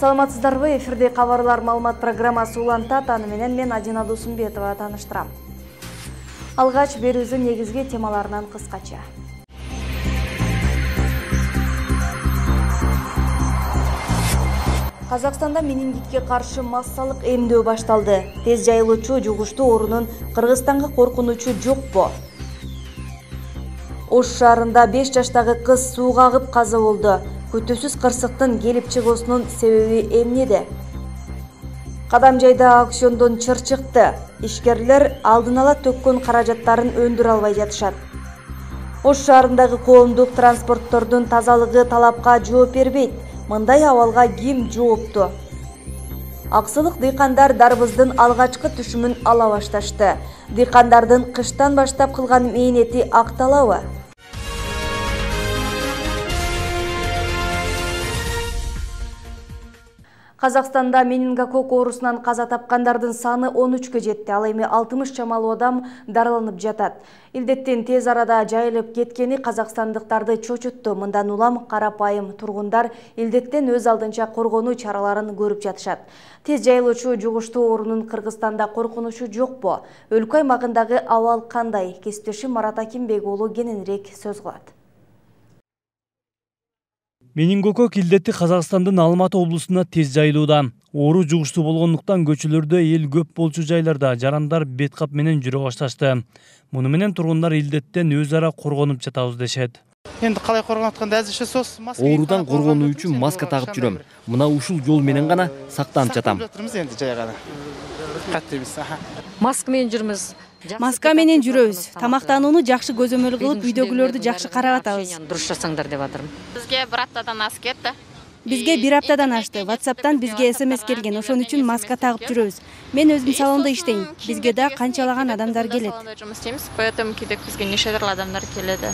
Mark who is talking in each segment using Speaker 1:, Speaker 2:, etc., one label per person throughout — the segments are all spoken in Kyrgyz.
Speaker 1: Саламатсыздарбы? Эфирде кабарлар маалымат программасы улантат. Аны менен мен Адина Досумбетова тааныштырам. Алгач берүүбүздүн негизги темаларынан кыскача. Казакстанда менингитке каршы массалык эмдөө башталды. Тез жайылуучу жугуштуу оорунун Кыргызстанга коркунучу жокпу? Ош шаарында 5 жаштагы кыз сууга агып каза болду. Күтүүсүз кырсыктын келип чыгуусунун себеби эмнеде? Кадамжайда аукциондон чыр чыкты. Ишкерлер алдын ала төккөн каражаттарын өндүрө албай жатышат. Ош шаарындагы коомдук транспорттордун тазалыгы талапка жооп бербейт. Мындай абалга ким жоопту? Аксылык дыйкандар дарбыздын алгачкы түшүмүн ала башташты. Дыйкандардын кыштан баштап кылган мээнети акталабы? Казакстанда менингококк оорусунан каза тапкандардын саны 13-кө жетти. Ал эми 60 чамалуу адам дараланып жатат. Илдеттин тез арада жайылып кеткени казакстандыктарды чочутту. Мындан улам карапайым тургундар илдеттен өз алдынча коргонуу чараларын көрүп жатышат. Тез жайылуучу жугуштуу оорунун Кыргызстанда коркунучу жокпу? Өлкө аймагындагы абал кандай? Кесиптешим Марат Акимбек уулу кененирээк сөз кылат.
Speaker 2: Менингококк илдети Казакстандын Алматы облусуна тез жайылууда. Оору жугуштуу болгондуктан көчөлөрдө эл көп болчу жайларда жарандар бет кап менен жүрө башташты. Муну менен тургундар илдеттен өз ара коргонуп жатабыз дешет.
Speaker 3: Энд калай коргонуп атканда азырча сос маска.
Speaker 4: Оорудан коргонуу үчүн маска тагып жүрөм. Мына ушул жол менен гана сактанып жатам.
Speaker 3: Энди жай гана. Каттыбыз.
Speaker 5: Маска менен жүрмүз.
Speaker 6: Маска менен жүрөбүз. Тамактанууну жакшы көзөмөл кылып, үйдөгүлөрдү жакшы карап атабыз.
Speaker 5: Дуруш жасаңдар деп атырмын.
Speaker 7: Бизге бир аптадан ашып кетти.
Speaker 6: Бизге бир аптадан ашты. WhatsApp'тан бизге SMS келген. Ошон үчүн маска тагып жүрөбүз. Мен өзүм салондо иштейм. Бизге да канчалаган адамдар келет.
Speaker 7: Салондо жұмыс істейміз, поэтому кейде бизге нешедир адамдар келеді.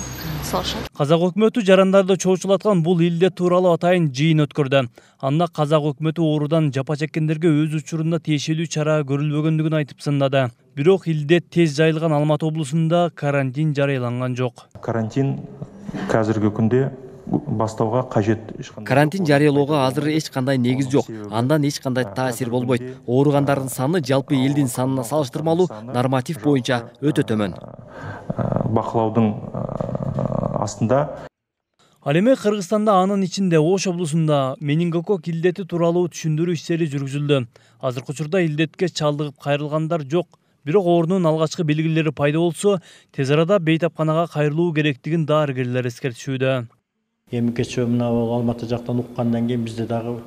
Speaker 2: Казак өкмөтү жарандарды чоочулаткан бул илдет тууралуу атайын жыйын өткөрдү. Анда казак өкмөтү оорудан жапа чеккендерге өз учурунда тиешелүү чара көрүлбөгөндүгүн айтып сындады. Бирок илдет тез жайылган Алматы облусунда карантин жарыяланган жок.
Speaker 8: Карантин азыркы күндө бастауга кажет.
Speaker 4: Карантин жарыялоого азыр эч кандай негиз жок. Андан эч кандай таасир болбойт. Ооругандардын саны жалпы элдин санына салыштырмалуу норматив боюнча өтө төмөн.
Speaker 8: Бакылаудун астында.
Speaker 2: Ал эми Кыргызстанда анын ичинде Ош облусунда менингококк илдети тууралуу түшүндүрүү иштери жүргүзүлдү. Азыркы учурда илдетке чалдыгып кайрылгандар жок. Бирок оорунун алгачкы белгилери пайда болсо, тез арада бейтапканага кайрылуу керектигин дарыгерлер эскертишүүдө.
Speaker 9: Эми кечээ мына Алматы жактан уккандан кийин бизде дагы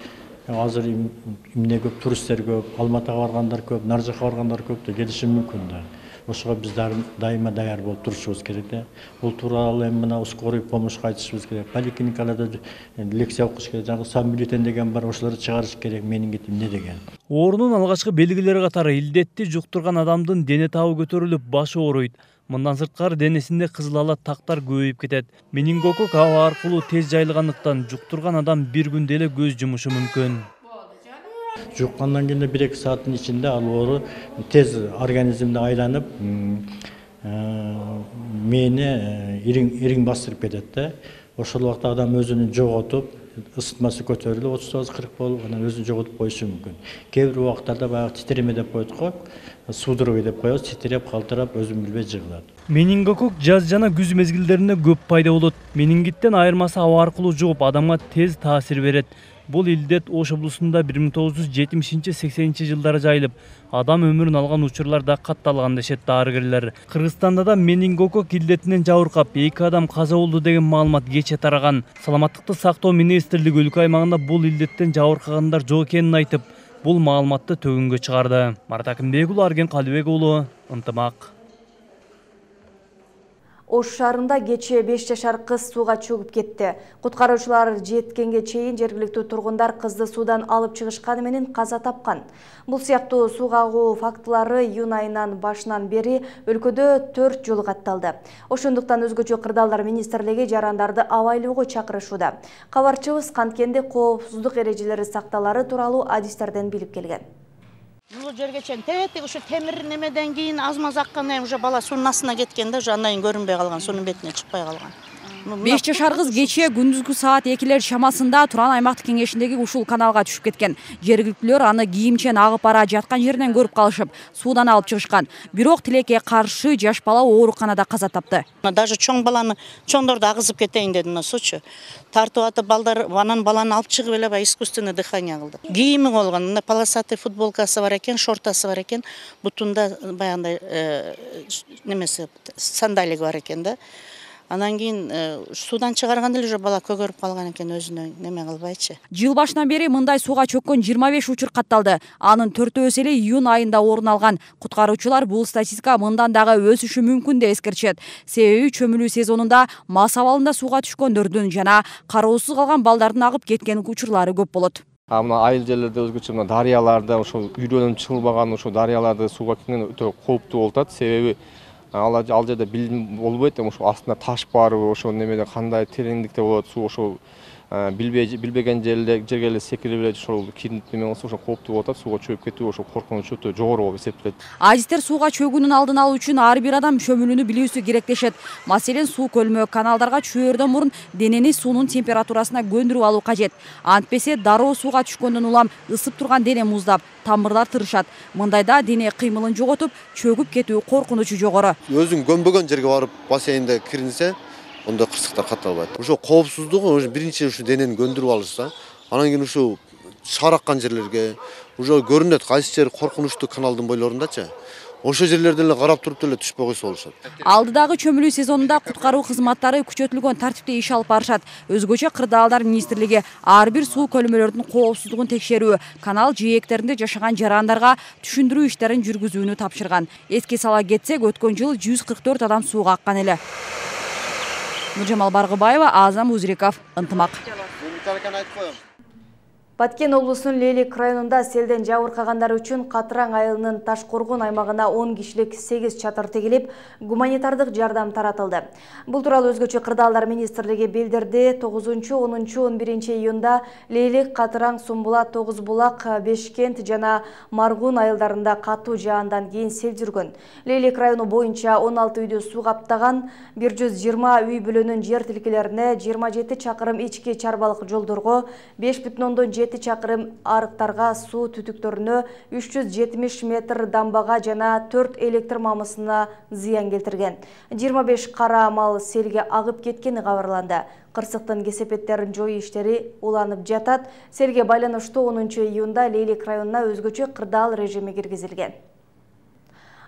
Speaker 9: азыр эмне көп, туристтер көп, Алматыга баргандар көп, нар жакка баргандар көп да келиши мүмкүн да. Ошого биз дайыма даяр болуп турушубуз керек да. Бул тууралуу эми мына скорый помощька айтышыбыз керек. Поликлиникаларда лекция окуш керек. Жаңы самбюллетень деген бар, ошолорду чыгарыш керек. Менингит эмне деген.
Speaker 2: Оорунун алгачкы белгилери катары илдетти жуктурган адамдын дене табы көтөрүлүп, башы ооруйт. Мындан сырткары денесинде кызыл ала тактар көбөйүп кетет. Менингококк аба аркылуу тез жайылгандыктан жуктурган адам бир күндө эле көз жумушу мүмкүн.
Speaker 9: Жуккандан кийин 1-2 сааттын ичинде ал оору тез организмде айланып, мээни ириң бастырып кетет да. Ошол убакта адам өзүн жоготуп, ысытмасы көтөрүлүп, 39-40 болуп, анан өзүн жоготуп коюшу мүмкүн. Кээ бир убактарда баягы титиреме деп коет го, судорога деп коебуз, титиреп, калтырап, өзүн билбей жыгылат.
Speaker 2: Менингококк жаз жана күз мезгилдеринде көп пайда болот. Менингиттен айырмасы аба аркылуу жугуп, адамга тез таасир берет. Бул илдет Ош облусунда 1970-80 жылдары жайылып, адам өмүрүн алган учурлар да катталган дешет дарыгерлер. Кыргызстанда да менингококк илдетинен жабыркап 2 адам каза болду деген маалымат кечээ тараган. Саламаттыкты сактоо министрлиги өлкө аймагында бул илдеттен жабыркагандар жок экенин айтып, бул маалыматты төгүнгө чыгарды. Марат Акимбек уулу, Арген Калыбек уулу, Ынтымак.
Speaker 1: Ош шаарында кечээ 5 жашар кыз сууга чөгүп кетти. Куткаруучулар жеткенге чейин жергиликтүү тургундар кызды суудан алып чыгышканы менен каза тапкан. Бул сыяктуу сууга агуу фактылары июнь айынан башынан бери өлкөдө 4 жолу катталды. Ошондуктан өзгөчө кырдаалдар министрлиги жарандарды абайлоого чакырышууда. Кабарчыбыз канткенде коопсуздук эрежелери сакталары тууралуу адистерден билип келген.
Speaker 10: Бул жерге чейин тетиги ушу темир немеден кийин аз-маз аккан уже бала суунун астына кеткен да, уже андан кийин көрүнбөй калган, суунун бетине чыкпай калган.
Speaker 6: 5 жашар кыз кечээ күндүзгү саат 2 шамасында Туран аймактык кеңешиндеги ушул каналга түшүп кеткен. Жергиликтүүлөр аны кийимчен агып бара жаткан жеринен көрүп калышып, суудан алып чыгышкан. Бирок тилекке каршы жаш бала ооруканада каза тапты.
Speaker 10: Даже чоңдорду агызып кетейин деди мына сучу. Тартып атып балдар анан баланы алып чыгып эле искусственный дыхание кылды. Кийими болгон, мына полосатый футболкасы бар экен, шортасы бар экен, бутунда баягындай немеси сандалиги бар экен да. Анан кийин суудан чыгарганда эле уже бала көгөрүп калган экен, өзүнө неме кылбайчы.
Speaker 6: Жыл башынан бери мындай сууга чөккөн 25 учур катталды. Анын 4-өөсү эле июнь айында орун алган. Куткаруучулар бул статистика мындан дагы өсүшү мүмкүн деп эскертишет. Себеби чөмүлүү сезонунда мас абалында сууга түшкөндөрдүн жана кароосуз калган балдардын агып кеткен учурлары көп болот.
Speaker 11: Мына айыл жерлерде өзгөчө мына дарыяларда ошол үйдөн чыгылбаган ошол дарыяларда сууга кеткен өтө кооптуу болуп атат. Себеби ал жерде билим болбойт, ошо астында таш барбы, ошо немеде кандай тереңдикте болот суу, ошол билбеген жерге эле секирип эле ошол кирип неме болсо ошо кооптуу болуп атат. Сууга чөгүп кетүү ошо коркунуч өтө жогору болуп эсептелет.
Speaker 6: Адистер сууга чөгүүнүн алдын алуу үчүн ар бир адам чөмүлүүнү билүүсү керектешет. Маселен, суу көлмө, каналдарга чүйөрдөн мурун денени суунун температурасына көндүрүп алуу кажет. Антпесе дароо сууга түшкөндөн улам ысып турган дене муздап, тамырлар тырышат. Мындайда дене кыймылын жоготуп, чөгүп кетүү коркунучу жогору.
Speaker 12: Өзүң көнбөгөн жерге барып бассейнде киринсе, онда кырсыктар катталбайт. Ошо коопсуздугу биринчи ушу денени көндүрүп алышса, анан кийин ушу шараккан жерлерге, уже көрүнөт кайсы жер коркунучтуу каналдын бойлорундачы. Ошо жерлерден эле карап туруп деле түшпөй койсо болушат.
Speaker 6: Алдыдагы чөмүлүү сезонунда куткаруу кызматтары күчөтүлгөн тартипте иш алып барышат. Өзгөчө Кырдаалдар министрлиги ар бир суу көлмөлөрдүн коопсуздугун текшерүү, канал жээктеринде жашаган жарандарга түшүндүрүү иштерин жүргүзүүнү тапшырган. Эске сала кетсек, өткөн жылы 144 адам сууга аккан эле. Нуржамал Баргыбаева, Азам Узриков, Ынтымак.
Speaker 1: Баткен облусунун Лейлик районунда селден жабыркагандар үчүн Катыраң айылынын Ташкоргон аймагына 10 кишилик 8 чатыр тегилип, гуманитардык жардам таратылды. Бул тууралуу өзгөчө Кырдаалдар министрлиги билдирди. 9-10-11 июнда Лейлик, Катыраң, Сумбулат, Тогуз Булак, Бешкент жана Маргун айылдарында катуу жаандан кийин сел жүргөн. Лейлик району боюнча 16 үйдү суу каптаган, 120 үй бүлөнүн жер тилкелерине, 27 чакырым ички чарбалык жолдорго, 5,7 чакырым арыктарга, суу түтүктөрүнө, 370 метр дамбага жана 4 электр мамысына зыян келтирген. 25 кара мал селге агып кеткени кабарланды. Кырсыктын кесепеттерин жоюу иштери уланып жатат. Селге байланыштуу 10 июнда Лейлик районуна өзгөчө кырдаал режими киргизилген.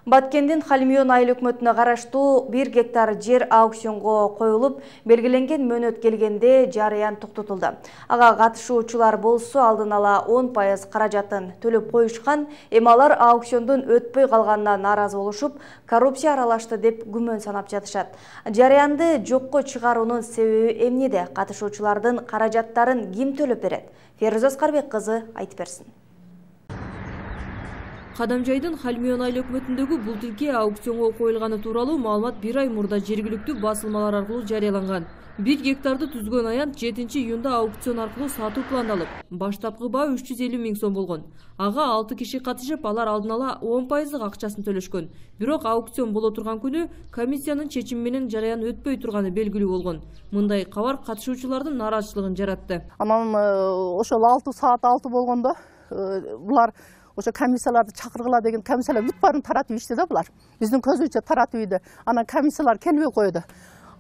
Speaker 1: Баткендин Халимион айыл өкмөтүнө караштуу 1 гектар жер аукционго коюлуп, белгиленген мөөнөт келгенде жарыян токтотулду. Ага катышуучулар болсо алдын ала 10% каражатын төлөп коюшкан, эми алар аукциондун өтпөй калганына нааразы болушуп, коррупция аралашты деп күмөн санап жатышат. Жарыянды жокко чыгаруунун себеби эмнеде? Катышуучулардын каражаттарын ким төлөп берет? Феруза Аскарбек кызы айтып берсин.
Speaker 13: Кадамжайдын Халимион айыл өкмөтүндөгү бул тилке аукционго коюлганы тууралуу маалымат 1 ай мурда жергиликтүү басылмалар аркылуу жарыяланган. 1 гектарды түзгөн аянт 7 июнда аукцион аркылуу сатуу пландалып, баштапкы баа 350 000 сом болгон. Ага 6 киши катышып, алар алдын ала 10% акчасын төлөшкөн. Бирок аукцион боло турган күнү комиссиянын чечими менен жарыян өтпөй турганы белгилүү болгон. Мындай кабар катышуучулардын нааразычылыгын жаратты.
Speaker 14: Анан ошол 6 саат 6 болгондо булар ошо комиссияларды чакыргыла деген комиссиялар бүт баарын таратып ичти да булар. Биздин көзүбүзчө таратып ийди. Анан комиссиялар келбей койду.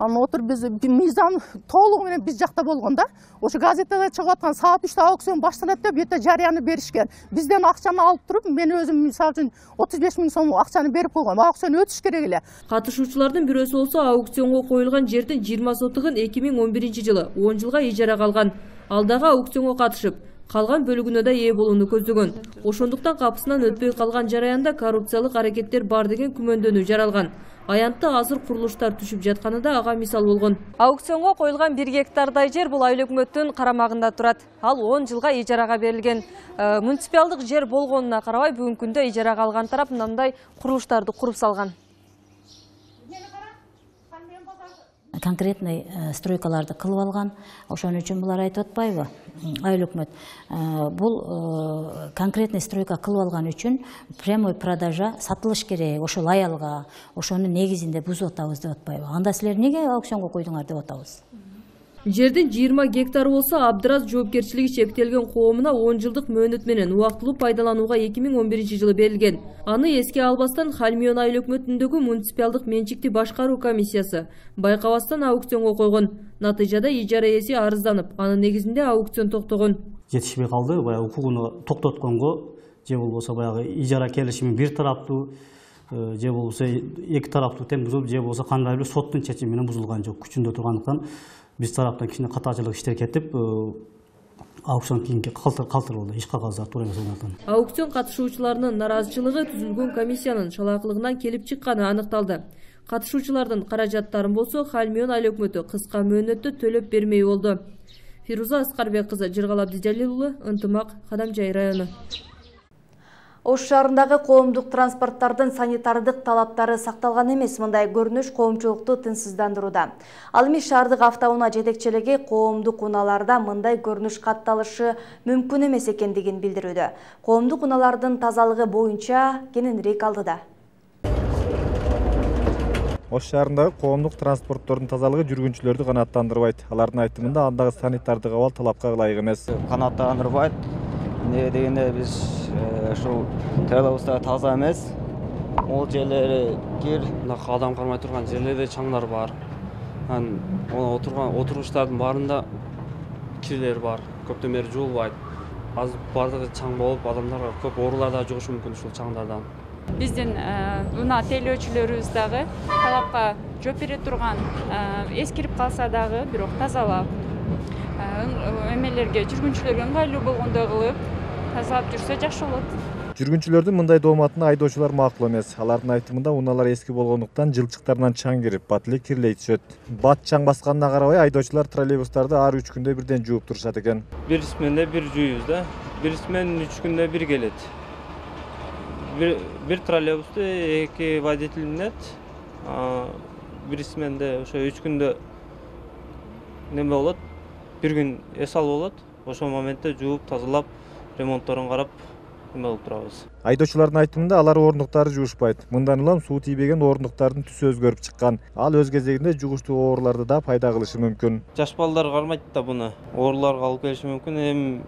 Speaker 14: Анан отуруп биз мыйзам толугу менен биз жакта болгон да. Ошо газетеде чыгып аткан саат 3-тө аукцион башталат деп бүйөтө жарыяны беришкен. Бизден акчаны алып туруп, мен өзүм мисалы үчүн 35 000 сом акчаны берип койгом. Аукцион өтүш керек эле.
Speaker 13: Катышуучулардын бирөөсү болсо аукционго коюлган жердин 20 сотыгын 2011 жылы 10 жылга ижарага алган. Ал дагы аукционго катышып, калган бөлүгүнө да ээ болууну көздөгөн. Ошондуктан капысынан өтпөй калган жараянда коррупциялык аракеттер бар деген күмөндөнүү жаралган. Аянтта азыр курулуштар түшүп жатканы да ага мисал болгон. Аукционго коюлган 1 гектардай жер бул айыл өкмөттүн карамагында турат. Ал 10 жылга ижарага берилген. Муниципалдык жер болгонуна карабай бүгүнкү күндө ижарага алган тарап мындай курулуштарды куруп салган.
Speaker 15: конкретный стройкаларды кылып алган. Ошон үчүн булар айтып атпайбы? Айыл өкмөт бул конкретный стройка кылып алган үчүн прямой продажа сатылыш керек, ошол аялга, ошонун негизинде бузуп атабыз деп атпайбы? Анда силер эмнеге аукционго койдуңар деп атабыз.
Speaker 13: Жердин 20 гектар болсо Абдыраз жоопкерчилиги чектелген коомуна 10 жылдык мөөнөт менен убактылуу пайдаланууга 2011-жылы берилген. Аны эске албастан Хальмион айыл өкмөтүндөгү муниципалдык менчикти башкаруу комиссиясы байкабастан аукционго койгон. Натыйжада ижара ээси арызданып, анын негизинде аукцион токтогон.
Speaker 16: Жетишпей калды, баягы укугуну токтотконго, же болбосо баягы ижара келишими бир тараптуу, же болбосо эки тараптуу тең бузулуп, же болбосо кандай бир соттун чечими менен бузулган жок, күчүндө тургандыктан биз тараптан кичине катачылык иштер кетип, аукцион кийинки калтыр болду, иш кагаздар туура эмес болгондон.
Speaker 13: Аукцион катышуучуларынын нараазычылыгы түзүлгөн комиссиянын чалаакылыгынан келип чыкканы аныкталды. Катышуучулардын каражаттарын болсо Хальмион айыл өкмөтү кыска мөөнөттө төлөп бермей болду. Фируза Аскарбек кызы, Жыргал Абдижалил уулу, Ынтымак, Кадамжай району.
Speaker 1: Ош шаарындагы коомдук транспорттардын санитардык талаптары сакталган эмес. Мындай көрүнүш коомчулукту тынчсыздандырууда. Ал эми шаардык автоунаа жетекчилиги коомдук унааларда мындай көрүнүш катталышы мүмкүн эмес экендигин билдирүүдө. Коомдук унаалардын тазалыгы боюнча кененирээк алдыда.
Speaker 17: Ош шаарындагы коомдук транспорттордун тазалыгы жүргүнчүлөрдү канааттандырбайт. Алардын айтымында андагы санитардык абал талапка ылайык эмес.
Speaker 18: Канааттандырбайт. Эмне дегенде биз ушул телебузда таза эмес. Ол жерлери кир,
Speaker 19: адам кармай турган жерлерде чаңдар бар. Отургучтардын баарында кирлер бар. Көптөн бери жуулбайт. Азыр бардыгы чаң болуп, адамдарга көп оорулар да жугушу мүмкүн ушул чаңдардан.
Speaker 20: Биздин унаа тейлөөчүлөрүбүз дагы талапка жооп бере турган, эскирип калса дагы, бирок тазалап, эмелерге жүргүнчүлөргө ыңгайлуу болгондой кылып тазалап жүрсө жакшы болот.
Speaker 17: Жүргүнчүлөрдүн мындай дооматына айдоочулар макул эмес. Алардын айтымында унаалар эски болгондуктан жылчыктарынан чаң кирип, бат эле кирлей түшөт. Бат чаң басканына карабай айдоочулар троллейбустарды ар 3 күндө бирден жууп турушат экен.
Speaker 21: Бир сменде бир жууйбуз да. Бир смен 3 күндө бир келет. Бир троллейбусту 2 водитель минет. Бир сменде ошо 3 күндө неме болот? Бир күн эс алып болот. Ошол моментте жууп, тазалап, ремонтторун карап неме кылып турабыз.
Speaker 17: Айдоочулардын айтымында алар орындуктарды жуушпайт. Мындан улам суу тийбеген орындуктардын түсү өзгөрүп чыккан. Ал өз кезегинде жугуштуу ооруларды да пайда кылышы мүмкүн.
Speaker 21: Жаш балдар кармайт да буну. Ооруларга алып келиши мүмкүн. Эми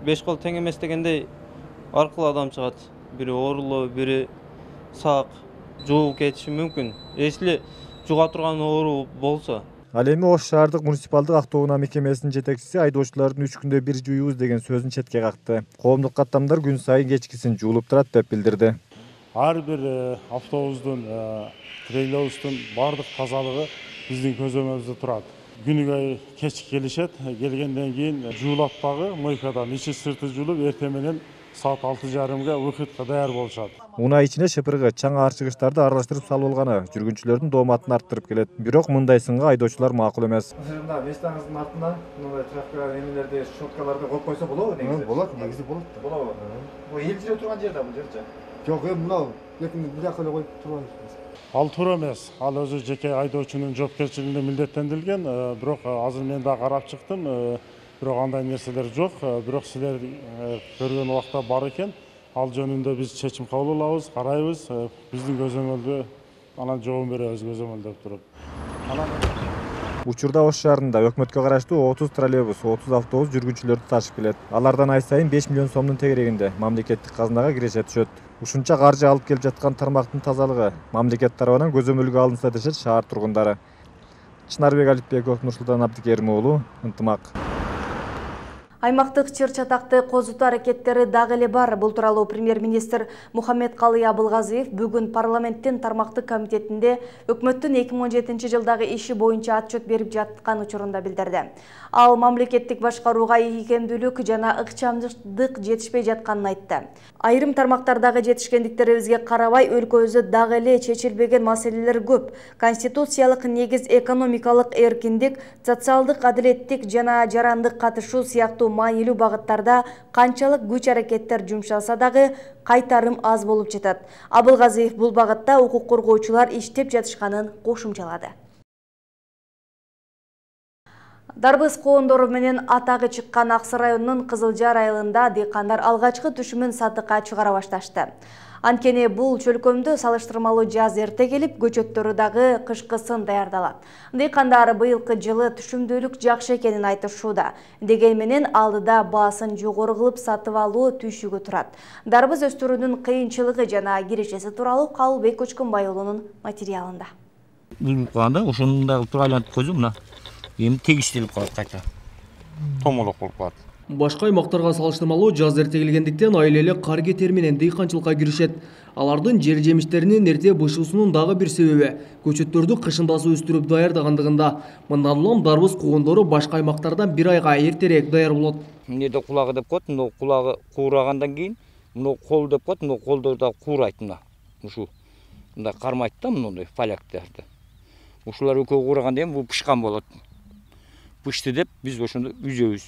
Speaker 21: 5 кол тең эмес дегендей ар кыл адам чыгат. Бири оорулуу, бири сак, жууп кетиши мүмкүн. Эсли жуга турган оору болсо.
Speaker 17: Ал эми Ош шаардык муниципалдык автоунаа мекемесинин жетекчиси айдоочулардын 3 күндө бир жууйбуз деген сөзүн четке какты. Коомдук каттамдар күн сайын кечкисин жуулуп турат деп билдирди.
Speaker 22: Ар бир автобустун, трейлеrbустун бардык тазалыгы биздин көзөмөлүбүздө турат. Күнүгө кеч келишет, келгенден кийин жуулап дагы мойкадан ичи сырты жуулуп, эртең менен саат 6:30-га выходко даяр болушат.
Speaker 17: Унаа ичине шыпыргы, чаң аарчыгычтарды аралаштырып салып алганы жүргүнчүлөрдүн дооматын арттырып келет. Бирок мындай сынга айдоочулар макул эмес.
Speaker 22: Местаңыздын артына мындай трактор эмелерди, щеткаларды коюп койсо болобу негизи? Болот, негизи болот. Болобу? Бул эл жүрө турган жерде бул жерчи? Жок, эми мынау бул жака эле коюп турбайбыз. Ал туура эмес. Ал өзү жеке айдоочунун жоопкерчилигине милдеттендирилген, бирок азыр мен да карап чыктым. Бирок андай нерселер жок. Бирок силер көргөн убакта бар экен. Ал жөнүндө биз чечим кабыл алабыз, карайбыз. Биздин көзөмөлдө анан жооп беребиз көзөмөлдөп туруп.
Speaker 17: Учурда Ош шаарында өкмөткө караштуу 30 троллейбус, 30 автобус жүргүнчүлөрдү ташып келет. Алардан ай сайын 5 миллион сомдун тегерегинде мамлекеттик казынага киреше түшөт. Ушунча каржы алып келип жаткан тармактын тазалыгы мамлекет тарабынан көзөмөлгө алынса дешет шаар тургундары. Чынарбек Алипбеков, Нурсултан Абдикерим уулу, Ынтымак.
Speaker 1: Аймактык чыр-чатакты козутуу аракеттери дагы эле бар. Бул тууралуу премьер-министр Мухаммедкалый Абылгазиев бүгүн парламенттин тармактык комитетинде өкмөттүн 2017 жылдагы иши боюнча отчет берип жаткан учурунда билдирди. Ал мамлекеттик башкарууга ийгемдүүлүк жана ыкчамдык жетишпей жатканын айтты. Айрым тармактардагы жетишкендиктерибизге карабай өлкөбүздө дагы эле чечилбеген маселелер көп. Конституциялык негиз экономикалык эркиндик, социалдык адилеттик жана жарандык катышуу сыяктуу маанилүү багыттарда канчалык күч-аракеттер жумшалса дагы кайтарым аз болуп жатат. Абылгазиев бул багытта укук коргоочулар иштеп жатышканын кошумчалады. Дарбыз коондору менен атагы чыккан Аксы районунун Кызылжар айылында дыйкандар алгачкы түшүмүн сатыкка чыгара башташты. Анткени бул чөлкөмдө салыштырмалуу жаз эрте келип, көчөттөрү дагы кышкысын даярдалат. Дыйкандар быйылкы жылы түшүмдүүлүк жакшы экенин айтышууда. Деген менен алдыда баасын жогору кылып сатып алуу түйшүгү турат. Дарбыз өстүрүүнүн кыйынчылыгы жана кирешеси тууралуу Кабылбек Көчкөнбай уулунун материалында.
Speaker 3: Бул кылганда ошондой кылып туруп айлантып койсом мына эми тегиштелип калат кайта. Томолок болуп калат.
Speaker 5: Башка аймактарга салыштырмалуу жаз эрте келгендиктен айыл эли кар кетери менен дыйканчылыкка киришет. Алардын жер жемиштеринин эрте бышуусунун дагы бир себеби көчөттөрдү кышындасы өстүрүп даярдагандыгында. Мындан улам дарбыз коондору башка аймактардан бир айга эртерээк даяр болот.
Speaker 3: Эмнеде кулагы деп коет, мына кулагы куурагандан кийин мына кол деп коет, мына колдор да куурайт мына. Ушу мында кармайт да мындай поляктарды. Ушулар экөө куураганда эми бул пышкан болот. Пышты деп биз ошондо үзөбүз.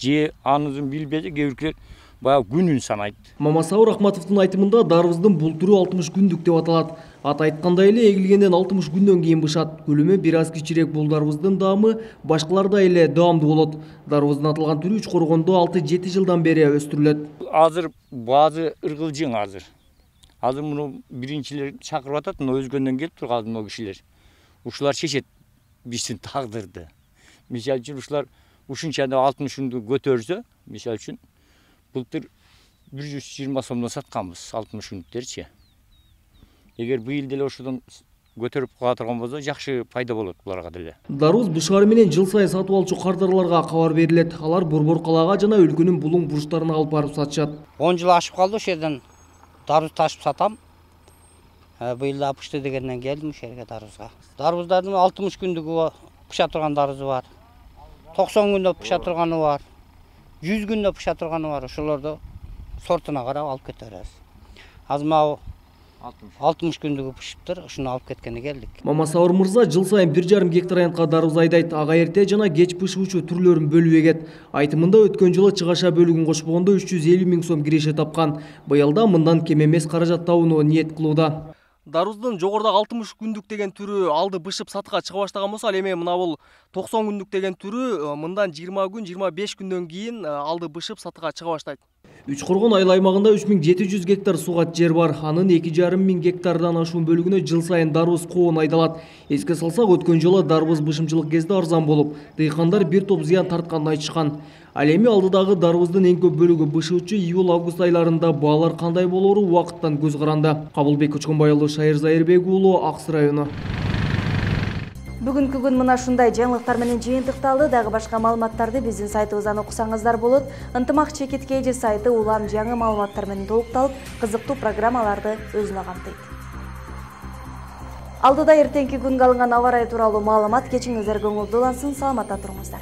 Speaker 3: Же анызын билбеди, кээ биркилер баягы күнүн санайт.
Speaker 5: Мамасаур Ахматовдун айтымында дарбыздын бул түрү 60 күндүк деп аталат. Аты айткандай эле эгилгенден 60 күндөн кийин бышат. Көлөмү бир аз кичирээк бул дарбыздын даамы башкалардай эле даамдуу болот. Дарбыздын аталган түрү Үч Коргондо 6-7 жылдан бери өстүрүлөт.
Speaker 3: Азыр баазы ыргылжың азыр. Азыр муну биринчилер чакырып атат, мына өзгөндөн келип турган мына кишилер. Ушулар шешет биздин тагдырды. Мисалы үчүн ушулар ушунча 60 күндү көтөрсө, мисалы үчүн былтыр 120 сомдон сатканбыз 60 күндүктөрчү. Эгер быйыл деле ошодон көтөрүп кала турган болсо, жакшы пайда болот буларга деле.
Speaker 5: Дарбыз бышаары менен жыл сайын сатып алчу кардарларга кабар берилет. Алар Борбор калаага жана өлкөнүн булуң бурчтарына алып барып сатышат.
Speaker 23: 10 жыл ашып калды ошол жерден дарбыз ташып сатам. Быйыл да пышты дегенден келдим ошол жерге дарбызга. Дарбыздардын 60 күндүгү пыша турган дарбызы бар. 90 күндө пыша турганы бар. 100 күндө пыша турганы бар. Ошолорду сортуна карап алып кете беребиз. Азыр мына 60 күндүгү пышыптыр, ушуну алып кеткени келдик.
Speaker 5: Мамасаур мырза жыл сайын 1,5 гектар аянтка дарбыз айдайт. Ага эрте жана кеч пышуучу түрлөрүн бөлүп эгет. Айтымында өткөн жылы чыгаша бөлүгүн кошпогондо 350 000 сом киреше тапкан. Быйылда мындан кем эмес каражат табууну ниет кылууда. Дарбыздын жогорудагы 60 күндүк деген түрү алды бышып сатыкка чыга баштаган болсо, ал эми мына бул 90 күндүк деген түрү мындан 20 күн, 25 күндөн кийин алды бышып сатыкка чыга баштайт. Үч Коргон айыл аймагында 3700 гектар сугат жер бар. Анын 2,5 гектардан ашуун бөлүгүнө жыл сайын дарбыз коон айдалат. Эске салсак, өткөн жылы дарбыз бышымчылык кезде арзан болуп, дыйкандар бир топ зыян тартканын айтышкан. Ал эми алдыдагы дарбыздын эң көп бөлүгү бышуучу июль-август айларында баалар кандай болору убакыттан көз каранды. Кабылбек Көчкөнбай уулу, Шайыр Зайырбек уулу, Аксы району.
Speaker 1: Бүгүнкү күн мына ушундай жаңылыктар менен жыйынтыкталды. Дагы башка маалыматтарды биздин сайтыбыздан окусаңыздар болот. Ынтымак ЧКТ сайты улам жаңы маалыматтар менен толукталып, кызыктуу программаларды өзүнө камтыйт. Алдыда эртеңки күнгө алынган аба ырайы тууралуу маалымат. Кечиңиздер көңүлдүү улансын, саламатта туруңуздар.